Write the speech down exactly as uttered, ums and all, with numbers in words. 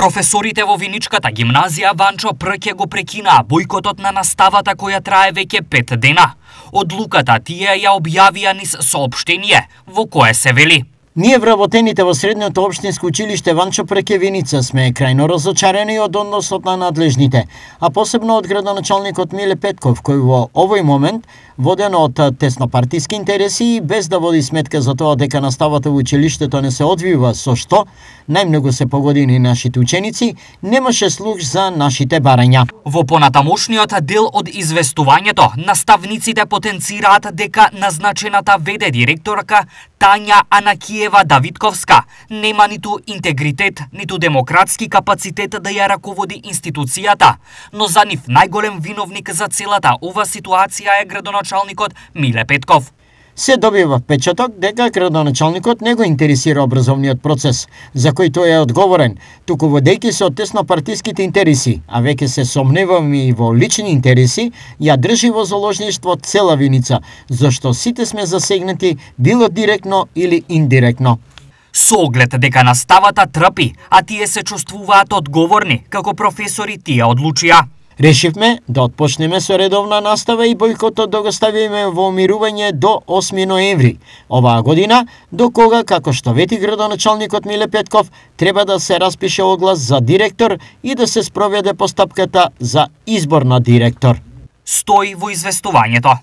Професорите во Виничката гимназија Ванчо Прке го прекинаа бојкотот на наставата која трае веќе пет дена. Одлуката тие ја објавија низ соопштение во кое се вели: Ние вработените во Средното општинско училиште Ванчо Прке Виница сме крајно разочарени од односот на надлежните, а посебно од градоначалникот Миле Петков, кој во овој момент, воден од теснопартиски интереси и без да води сметка за тоа дека наставата во училиштето не се одвива со што најмногу се погодени нашите ученици, немаше слух за нашите барања. Во понатамошниот дел од известувањето, наставниците потенцираат дека назначената ВД директорка Тања Анакиева Давидковска нема ниту интегритет, ниту демократски капацитет да ја раководи институцијата, но за нив најголем виновник за целата ова ситуација е градоначалникот Миле Петков. Се добива впечаток дека градоначалникот не го интересира образовниот процес, за кој тој е одговорен, туку водејќи се од теснопартиските интереси, а веќе се сомневаме и во лични интереси, ја држи во заложништво цела Виница, зашто сите сме засегнати, било директно или индиректно. Со оглед дека наставата трпи, а тие се чувствуваат одговорни, како професори тие одлучија. Решивме да отпочнеме со редовна настава и бојкотот да го ставиме во умирување до осми ноември оваа година, до кога, како што вети градоначалникот Миле Петков, треба да се распише оглас за директор и да се спроведе постапката за избор на директор. Стои во известувањето.